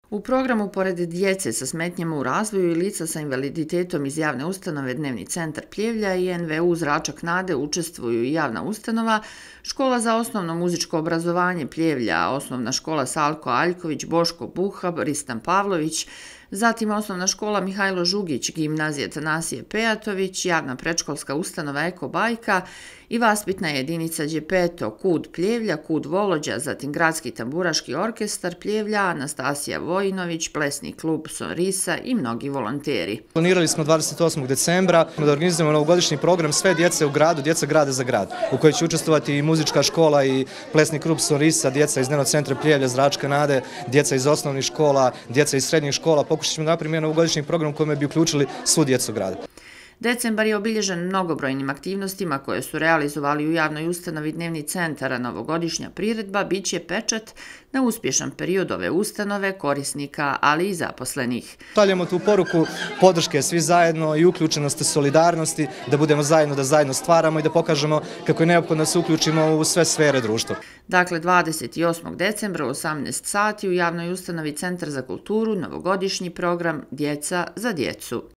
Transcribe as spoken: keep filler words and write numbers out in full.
U programu, pored djece sa smetnjama u razvoju i lica sa invaliditetom iz javne ustanove Dnevni centar Pljevlja i en ve u Zračak nade učestvuju i javna ustanova, Škola za osnovno muzičko obrazovanje Pljevlja, Osnovna škola Salko Aljković, Boško Buha, Ristan Pavlović, zatim Osnovna škola Mihajlo Žugić, Gimnazija Tanasije Pejatović, javna predškolska ustanova Eko Bajka i vaspitna jedinica Đepeto, Kud Pljevlja, Kud Volođa, zatim Gradski tamburaški orkestar Pljevlja, Anastasija Vojinović, Plesni klub Sonrisa i mnogi volonteri. Planirali smo dvadeset osmog decembra da organizujemo novogodišnji program Sve djece u gradu, djeca grada za grad, u kojoj će učestvovati i muzička škola i Plesni klub Sonrisa, djeca iz Dnevnog centra Pljevlja, Zračka nade, djeca iz osnovnih škola, djeca iz srednjih škola. Pokušat ćemo napraviti novogodišnji program u kojem bi uključili svu djecu grada. Decembar je obilježen mnogobrojnim aktivnostima koje su realizovali u javnoj ustanovi Dnevni centar, a novogodišnja priredba bit će pečat na uspješan period ove ustanove, korisnika, ali i zaposlenih. Šaljemo tu poruku podrške svi zajedno i uključenosti, solidarnosti, da budemo zajedno, da zajedno stvaramo i da pokažemo kako je neophodno da se uključimo u sve sfere društva. Dakle, dvadeset osmog decembra u osamnaest sati u javnoj ustanovi Centar za kulturu novogodišnji program Djeca za djecu.